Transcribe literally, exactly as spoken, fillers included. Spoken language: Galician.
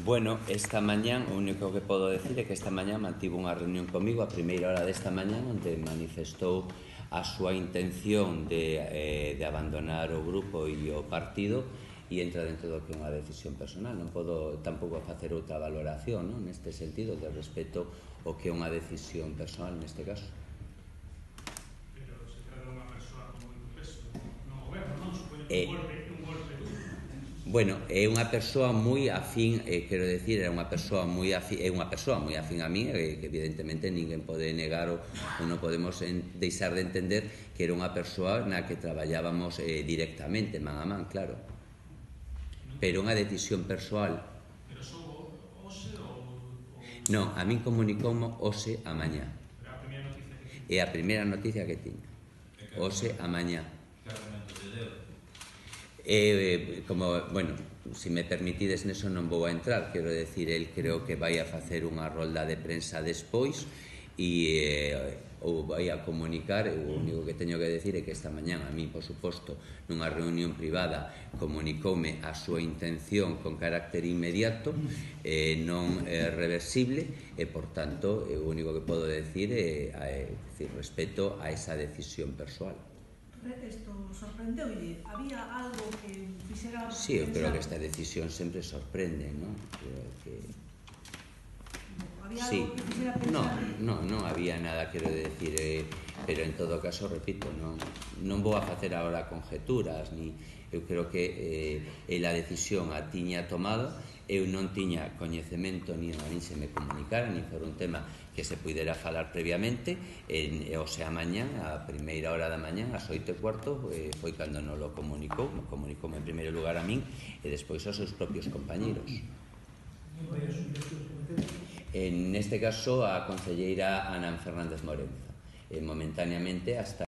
Bueno, esta mañán, o único que podo decir é que esta mañán mantivo unha reunión comigo a primeira hora desta mañán onde manifestou a súa intención de, eh, de abandonar o grupo e o partido e entra dentro do que é unha decisión personal. Non podo tampouco facer outra valoración, non? Neste sentido, de respeto o que é unha decisión personal neste caso. Pero se trata de unha persoa con moito peso no goberno, non? Supoño que Eh, un golpe, un golpe. Bueno, é unha persoa moi afín, eh, quero decir, é unha persoa moi afín, é unha persoa moi afín a mí, eh, que evidentemente ninguén pode negar ou, ou non podemos en, deixar de entender que era unha persoa na que traballábamos eh, directamente, man a man, claro. Pero unha decisión persoal. Pero sou hoxe ou... Non, a min comunicoumo hoxe a mañá. Pero a primeira noticia que tiña. É a primeira noticia que tiña. Hoxe a mañá. Que argumento te deu? Eh, como, bueno, se me permitides neso non vou a entrar, quero decir, el creo que vai a facer unha rolda de prensa despois e eh, ou vai a comunicar. O único que teño que decir é que esta mañán a mí, por suposto, nunha reunión privada comunicoume a súa intención con carácter inmediato, eh, non eh, reversible, e por tanto o único que podo decir é, é, é decir, respeto a esa decisión persoal. Isto sorprendeulle? Había algo que fixera... Sí, eu creo que esta decisión sempre sorprende, non? Creo que... Había sí. algo que fixera No, pensar... no, non había nada, quero decir, eh, pero en todo caso, repito, non, non vou a facer agora conjeturas, ni eu creo que eh, a decisión a tiña tomado, eu non tiña coñecemento, ni a min se me comunicara, ni for un tema que se pudera falar previamente, en, o sea, mañán, a primeira hora da mañán, ás oito e cuarto, eh, foi cando non lo comunicou, me comunicou en primeiro lugar a min e despois aos seus propios compañeros. En este caso, a concelleira Ana Fernández Morenza, eh, momentáneamente hasta